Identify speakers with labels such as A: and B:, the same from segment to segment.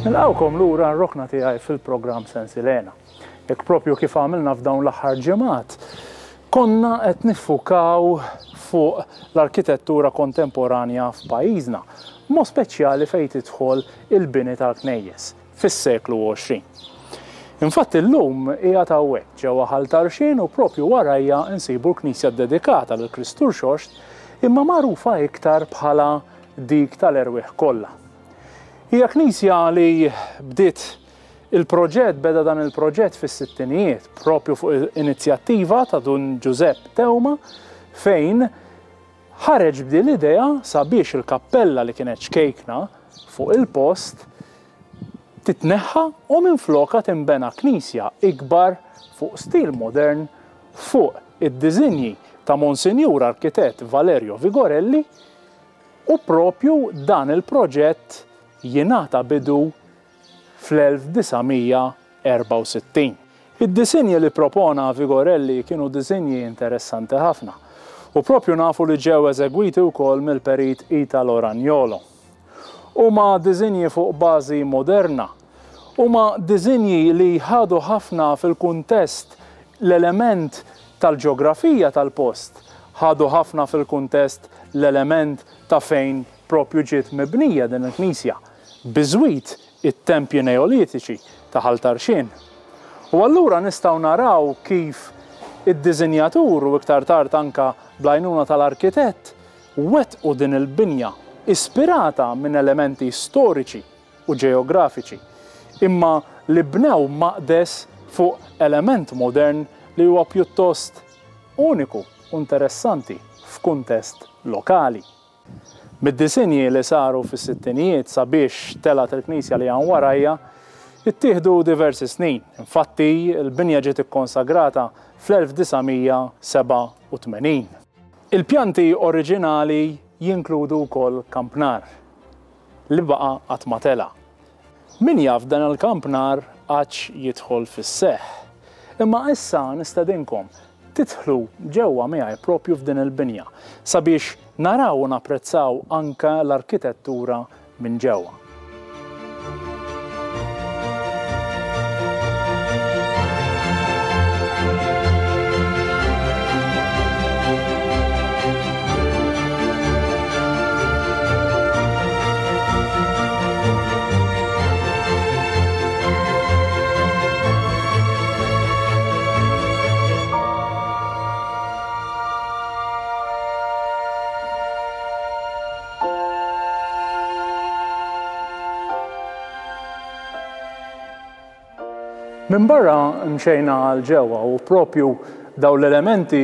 A: Nilqgħukom lura r-rokna tiegħi fil-programm Sensilena. Hekk propju kif għamilna f'dawn l-aħħar ġimgħat, konna qed niffukaw fuq l-arkitettura kontemporanja f'pajjiżna, b'mod speċjali fejn tidħol il-bini tal-knejjes fis-seklu 20. Infatti llum qiegħed hawnhekk ġewwa Ħal Tarxien u propju warajja nsibu l-knisja ddedikata lil Kristu Rxoxt imma magħrufa iktar bħala dik tal-erwieħ kollha. Hija knisja li bdiet il-proġett, beda dan il-proġett fis-sittinijiet, propju fuq inizjattiva ta' Dun Ġużepp Teuma fejn ħareġ b'din l-idea sabiex il-kappella li kienet ċkejkna fuq il-post titneħħa u minflokha tinbena knisja ikbar fuq stil modern fuq id-diżinji ta' Monsinjur Arkitett Valerio Vigorelli u propju dan il-proġett jingħata bidu fl-1964. Id-disinji li ppropona Vigorelli kienu disinji interessanti ħafna u propju nafu li ġew eżegwiti wkoll mill-perit Italo Ragnolo. Huma disinji fuq bażi moderna. Huma disinji li ħadu ħafna fil-kuntest l-element tal-ġeografija tal-post, ħadu ħafna fil-kuntest l-element ta' fejn propju ġiet mibnija din il-knisja, biżwit it-tempji Neolitiċi ta' Ħal Tarxien. U allura nistgħu naraw kif id-disinjatur u iktar tard anke bl-għajnuna tal-arkitett wettqu din il-binja ispirata minn elementi storiċi u ġeografiċi, imma li bnew maqdes fuq element modern li huwa pjuttost uniku u interessanti f'kuntest lokali. Mid-disinji li saru fis-sittinijiet sabiex telgħet il-knisja li hawn warajja, ittieħdu diversi snin. Infatti, il-binja ġiet ikkonsagrata fl-1987. Il-pjanti oriġinali jinkludu wkoll kampnar li baqa' qatt ma tela'. Min jaf dan il-kampnar għadx jidħol fis-seħħ. Imma issa nistedinkom tidħlu ġewwa miegħi propju f'din il-binja sabiex naraw u napprezzaw anke l-arkitettura minn ġewwa. Minn barra mxejna għal ġewwa u propju dawn l-elementi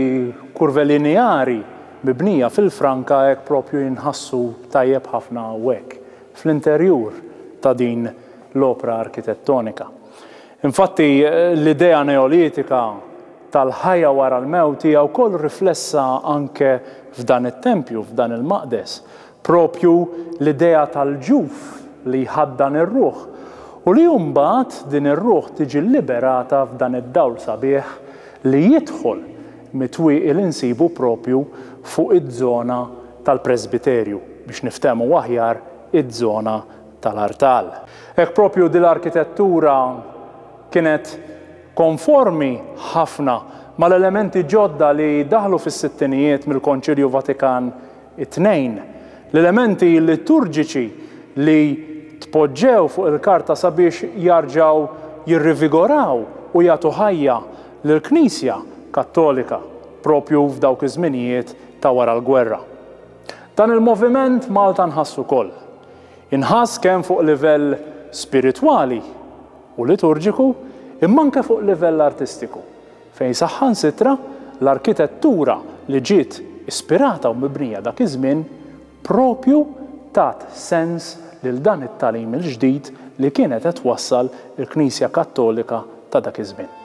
A: kurvelineari mibnija fil-franka hekk propju jinħassu tajjeb ħafna hawnhekk fl-interjur ta' din l-opra arkitettonika. Infatti l-idea Neolitika tal-ħajja wara l-mewt hija wkoll riflessa anke f'dan it-tempju, f'dan il-maqdes. Propju l-idea tal-ġuf li jħaddan ir-ruħ u li mbagħad din ir-ruħ tiġi liberata f'dan id-dawl sabiħ li jidħol mit-twieqi li nsibu propju fuq iż-żona tal-presbiterju, biex niftehmu aħjar iż-żona tal-artal. Hekk propju din l-arkitettura kienet konformi ħafna mal-elementi ġodda li daħlu fis-sittinijiet mill-Konċilju Vatikan It-tnejn, l-elementi liturġiċi li tpoġġew fuq il-karta sabiex jarġgħu jirrivigoraw u jagħtu ħajja lill-Knisja Kattolika propju f'dawk iż-żminijiet ta' wara l-gwerra. Dan il-moviment Malta nħass ukoll. Inħass kemm fuq livell spiritwali u liturġiku imma anke fuq livell artistiku. fejn saħansitra l-arkitettura li ġiet ispirata u mibnija dak iż-żmien proprju tat sens lil dan it-tagħlim il-ġdid li kienet qed twassal il-Knisja Kattolika ta' dak iż-żmien.